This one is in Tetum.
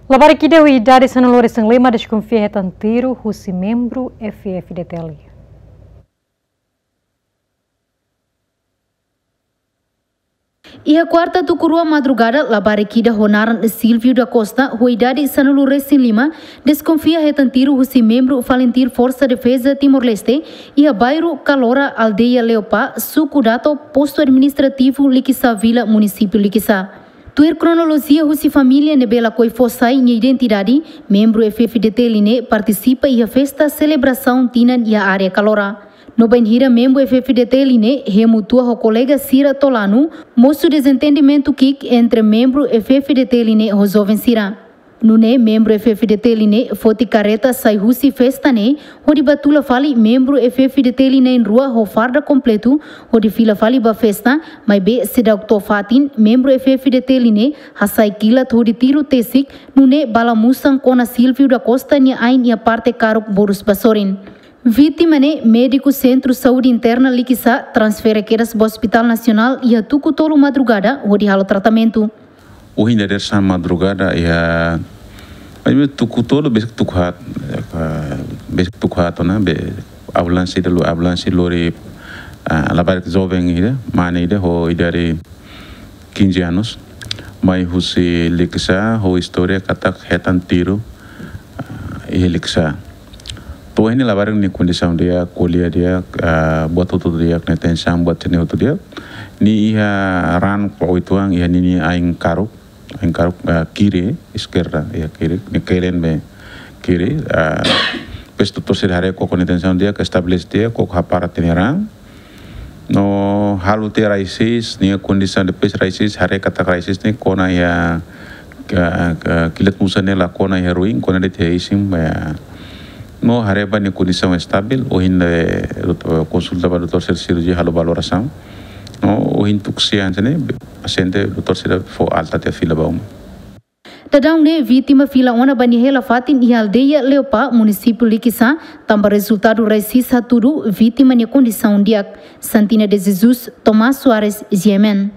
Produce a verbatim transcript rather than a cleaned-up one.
Labarik ida ho idade sanulu-resin-lima deskonfia hetan tiru husi membru F F D T L. Iha kuarta tuku rua madrugada, labarik ida ho naran Silvio da Costa, ho idade sanulu-resin-lima, deskonfia hetan tiru husi membru FALINTIL Forsa Defeza Timor-Leste, iha bairru Kalora, aldeia Leopá, suku Dato, postu administrativu Likisá Vila, munisípiu Likisá. Tuir kronolojia husi família ne'ebé lakohi fó sai nia identidade, membru F F D T L ne'e partisipa iha festa selebrasaun tinan iha área Kalora. No bainhira membru F F D T L ne'e hemu tua ho kolega sira to'o lanu, mosu dezentendimentu ki'ik entre membru F F D T L ne'e ho joven sira. Nune'e membru F F D T L ne'e foti karreta sai husi festa ne'e, hodi ba tula fali membru F F D T L na'in-rua ho farda kompletu, hodi fila fali ba festa, maibé seidauk to'o fatin, membru F F D T L ne'e hasai kilat hodi tiru tesik, nune'e bala musan kona Silvio da Costa nia ain iha parte karuk borus ba sorin. Vítima ne'e médiku Sentru Saúde Interna Likisá transfere kedas ba Hospital Nasionál iha tuku tolu madrugada hodi halo tratamentu. Ohin dadeer-saan madrugada iha, ai, be tuku tolu, besik tuku haat, eh, besik tuku haat ona, be ambulánsia ida lo, ambulánsia lori, ah, labarik joven ida, mane ida ho idade quinze anos, mai husi Likisá ho istória katak hetan tiru, ah, iha Likisá. To'o ohin nia labarik nia kondisaun di'ak, ko'alia di'ak, ah, buat hotu di'ak, nia tensaun buat sira-ne'e hotu di'ak. Nia iha raan kua uitoan iha ninia ain karuk, ain karuk, ah, kiri, eskerda, iha kiri, nia kelen be kiri, ah, depois doutór sira haree koko nia tensaun di'ak, estabelese di'ak, koko hapara tiha nia raan. No halo tiha rasis, nia kondisaun depois rasis, haree katak rasis ne'e kona iha, ka, ka, kilat musan ne'e la kona iha ruin, kona de'it iha isin, ya. No haree ba nia kondisaun estabil, ohin ne'e, dot-, konsulta ba doutór sira sirurjian halo valorasaun. No ohin tuku sia hanesan ne'e, pasiente doutór sira fó alta tiha fila ba uma. Daudaun ne'e vítima fila ona ba nia hela fatin iha aldeia Leopá, munisípiu Likisá, tanba rezultadu rasis hatudu vítima nia kondisaun di'ak. Santina de Jesus, Tomás Soares, G M N.